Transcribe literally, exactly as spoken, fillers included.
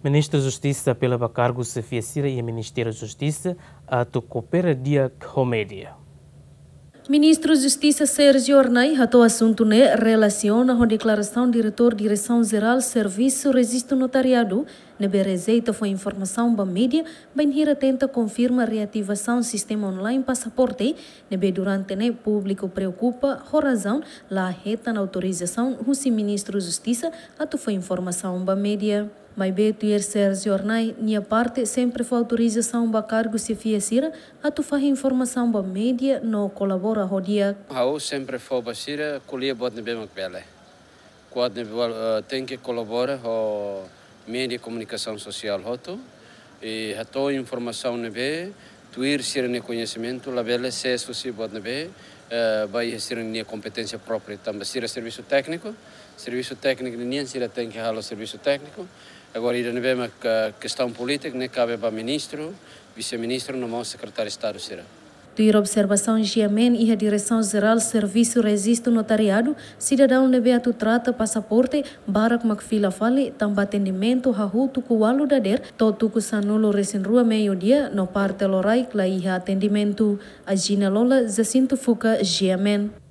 Ministru Justisa apela ba kargu xefia sira iha Ministériu Justisa atu koopera di'ak ho média. Ministru Justisa Sérgio Arnay hato'o asuntu ne'e relasiona ho deklarasaun Diretór Diresaun Jerál Servisu Rejistu Notariadu ne'ebé rejeita fó informasaun ba média bainhira tenta konfirma reativasaun sistema online pasaporte ne'ebé durante ne'e públiku preokupa ho razaun la hetan autorizasaun husi Ministru Justisa atu fó informasaun ba média. Maibé tuir Sérgio Arnay nia parte sempre fó autorizasaun ba kargu xefia sira atu fahe informasaun ba média no kolabora ho di'ak. Ha'u sempre fó ba sira ko'alia buat ne'ebé mak bele. Buat ne'ebé, eh, tenke kolabora ho média komunikasaun sosiál hotu. I hato'o informasaun ne'ebé tuir sira-nia koñesimentu, labele sees husi buat ne'ebé, eh, ba iha sira-nia kompeténsia própria. Tanba sira servisu tékniku, servisu tékniku ninian sira tenke halo servisu tékniku. Agora ida ne'ebé mak, eh, kestaun polítika ne'e kabe ba ministru, vise-ministru no mós sekretáriu Estadu sira. Tuir observasaun Giamen iha Diresaun Jerál Servisu Rejistu Notariadu, sidadaun ne'ebé atu trata pasaporte barak mak fila fali tanba atendimentu hahú tuku ualu dadeer to'o tuku sanulu-resin-rua meiudia no parte loraik la iha atendimentu. Agina Lola, Jacinto Fuca, Giamen.